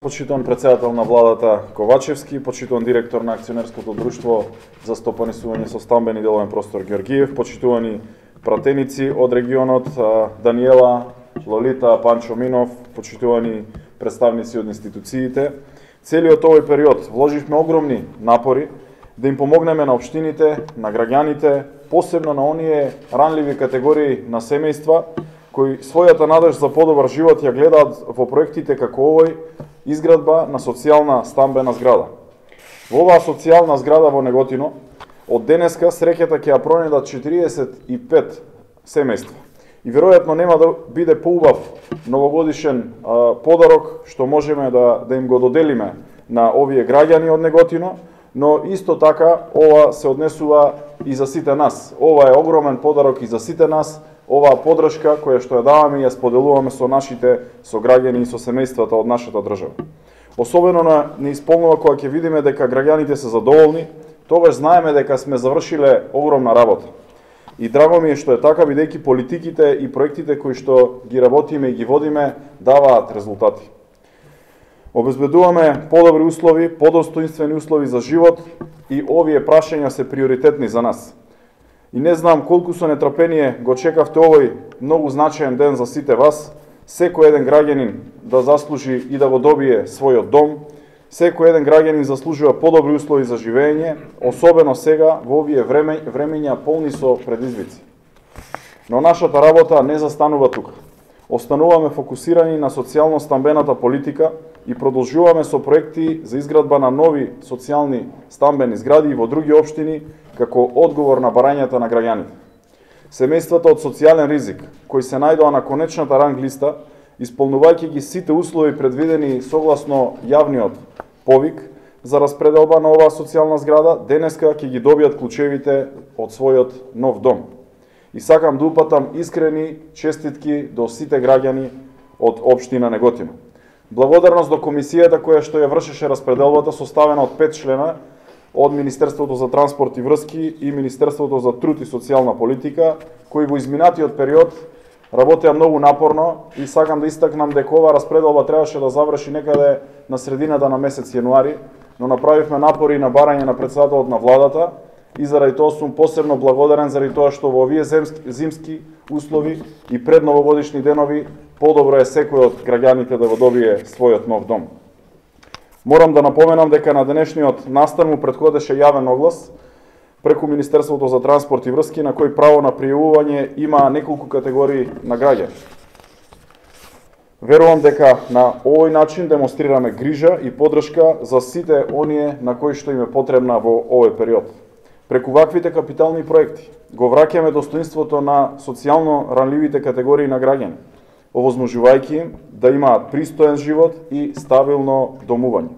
Почитуван председател на владата Ковачевски, почитуван директор на акционерското друштво за стопанисување со стамбен и деловен простор Георгиев, почитувани пратеници од регионот Даниела, Лолита, Панчо Минов, почитувани представници од институциите. Целиот овој период вложивме огромни напори да им помогнеме на општините, на граѓаните, посебно на оние ранливи категории на семејства кои својата надеж за подобар живот ја гледаат во проектите како овој, изградба на социјална стамбена зграда. Во оваа социјална зграда во Неготино, од денеска среќата ќе ја пронедат 45 семејства. И веројатно нема да биде поубав новогодишен подарок што можеме да им го доделиме на овие граѓани од Неготино, но исто така ова се однесува и за сите нас. Ова е огромен подарок и за сите нас, оваа поддршка која што ја даваме и ја споделуваме со нашите сограѓани и со семејствата од нашата држава. Особено не исполнува кога ќе видиме дека граѓаните се задоволни, тогаш знаеме дека сме завршиле огромна работа. И драго ми е што е така, бидејќи политиките и проектите кои што ги работиме и ги водиме даваат резултати. Обезбедуваме подобри услови, подостоинствени услови за живот и овие прашања се приоритетни за нас. И не знам колку со нетрпение го чекавте овој многу значаен ден за сите вас, секој еден граѓанин да заслужи и да го добие својот дом, секој еден граѓанин заслужува подобри услови за живење, особено сега во овие времења полни со предизвици. Но нашата работа не застанува тука. Остануваме фокусирани на социјално-стамбената политика и продолжуваме со проекти за изградба на нови социјални стамбени згради во други општини како одговор на барањата на граѓаните. Семејствата од социјален ризик, кои се најдоа на конечната ранг листа, исполнувајќи ги сите услови предвидени согласно јавниот повик за распределба на оваа социјална зграда, денеска ќе ги добијат клучевите од својот нов дом. И сакам да упатам искрени честитки до сите граѓани од општина Неготино. Благодарност до комисијата која што ја вршеше распределбата, составена од 5 члена од Министерството за транспорт и врски и Министерството за труд и социјална политика, кои во изминатиот период работеа многу напорно и сакам да истакнам дека оваа распределба требаше да заврши некаде на средината на месец јануари, но направивме напори на барање на председателот на владата и заради тоа сум посебно благодарен заради тоа што во овие зимски услови и пред новогодишни денови подобро е секој од граѓаните да го добие својот нов дом. Морам да напоменам дека на денешниот настан му претходеше јавен оглас преку Министерството за транспорт и врски на кој право на пријавување има неколку категории на граѓани. Верувам дека на овој начин демонстрираме грижа и поддршка за сите оние на кои што им е потребна во овој период. Преку ваквите капитални проекти го враќаме достоинството на социјално ранливите категории на граѓани, овозможувајќи им да имаат пристоен живот и стабилно домување.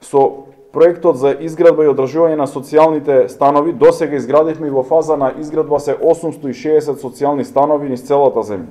Со проектот за изградба и одржување на социјалните станови досега изградивме и во фаза на изградба се 860 социјални станови низ целата земја.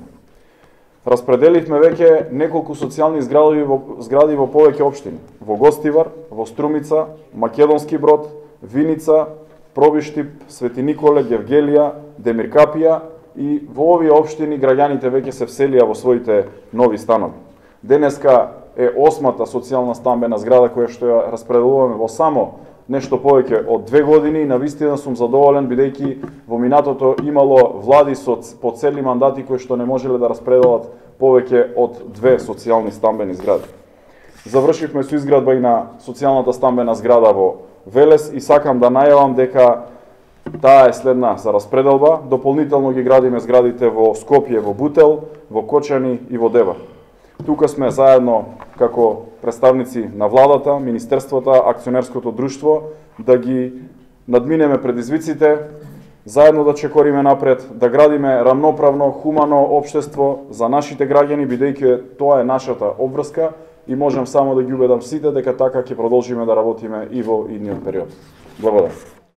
Распределивме веќе неколку социјални згради во повеќе општини: во Гостивар, во Струмица, Македонски Брод, Виница, Пробиштип, Свети Николе, Гевгелија, Демиркапија и во овие општини граѓаните веќе се вселија во своите нови станови. Денеска е 8-та социјална стамбена зграда која што ја распределуваме во само нешто повеќе од 2 години и навистина сум задоволен бидејќи во минатото имало влади по цели мандати кои што не можеле да распределат повеќе од 2 социјални стамбени згради. Завршивме со изградба и на социјалната стамбена зграда во Велес и сакам да најавам дека таа е следна за распределба. Дополнително ги градиме зградите во Скопје, во Бутел, во Кочани и во Девар. Тука сме заедно како представници на владата, министерствата, акционерското друштво, да ги надминеме предизвиците, заедно да чекориме напред, да градиме рамноправно, хумано општество за нашите граѓани, бидејќи тоа е нашата обврска и можам само да ги убедам сите дека така ќе продолжиме да работиме и во идниот период. Благодарам.